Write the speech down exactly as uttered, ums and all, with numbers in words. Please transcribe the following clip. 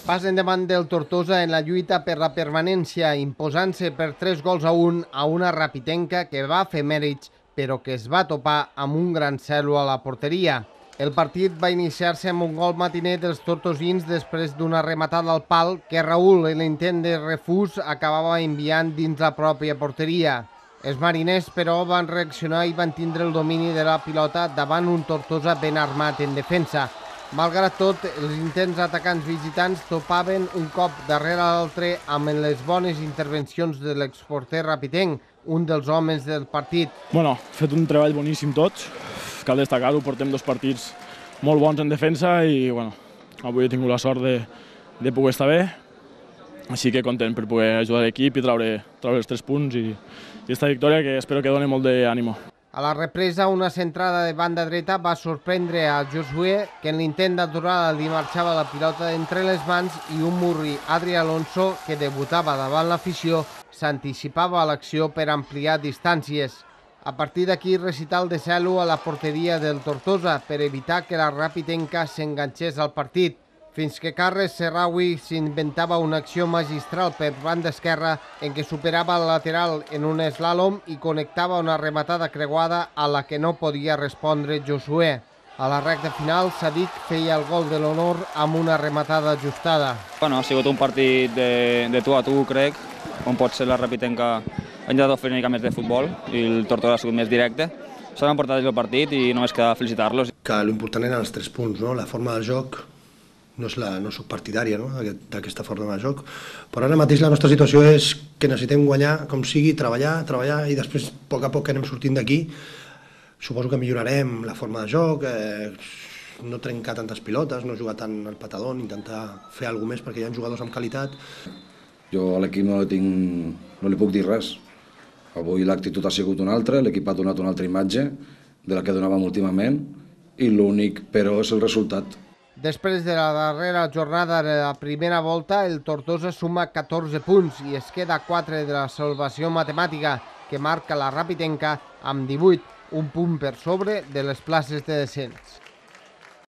Pas endavant del Tortosa en la lluita per la permanència, imposant-se per tres gols a un a una Rapitenca que va fer mèrits, però que es va topar amb un gran cel·lo a la porteria. El partit va iniciar-se amb un gol matiner dels tortosins després d'una rematada al pal que Raül, en l'intent de refús, acabava enviant dins la pròpia porteria. Els mariners, però, van reaccionar i van tindre el domini de la pilota davant un Tortosa ben armat en defensa. Malgrat tot, els intents atacants visitants topaven un cop darrere l'altre amb les bones intervencions de l'exporter rapitenc, un dels homes del partit. Bueno, fet un treball boníssim tots, cal destacar-ho, portem dos partits molt bons en defensa i bueno, avui he tingut la sort de, de poder estar bé, així que content per poder ajudar l'equip i treure, treure els tres punts i, i esta victòria que espero que doni molt d'ànimo. A la represa, una centrada de banda dreta va sorprendre a Josué, que en l'intent d'aturada li marxava la pilota entre les mans i un murri, Adri Alonso, que debutava davant l'afició, s'anticipava a l'acció per ampliar distàncies. A partir d'aquí, recital de cel·lo a la porteria del Tortosa per evitar que la Rapitenca s'enganxés al partit, fins que Carles Serraoui s'inventava una acció magistral per banda esquerra en què superava el lateral en un eslàlom i connectava una rematada creuada a la que no podia respondre Josué. A la recta final, Sadik feia el gol de l'honor amb una rematada ajustada. Bueno, ha sigut un partit de, de tu a tu, crec, on pot ser la Rapitenca ha intentat fer una mica més de futbol i el Tortosa ha sigut més directe. S'han emportat el partit i només queda felicitar-los. Que l'important eren els tres punts, no? La forma del joc. No, és la, no soc partidària no? d'aquesta forma de joc, però ara mateix la nostra situació és que necessitem guanyar com sigui, treballar, treballar i després a poc a poc que anem sortint d'aquí suposo que millorarem la forma de joc, eh, no trencar tantes pilotes, no jugar tant al patadón, intentar fer alguna més perquè hi ha jugadors amb qualitat. Jo a l'equip no, no li puc dir res. Avui l'actitud ha sigut una altra, l'equip ha donat una altra imatge de la que donàvem últimament i l'únic però és el resultat. Després de la darrera jornada de la primera volta, el Tortosa suma catorze punts i es queda a quatre de la salvació matemàtica que marca la Rapitenca amb divuit, un punt per sobre de les places de descens.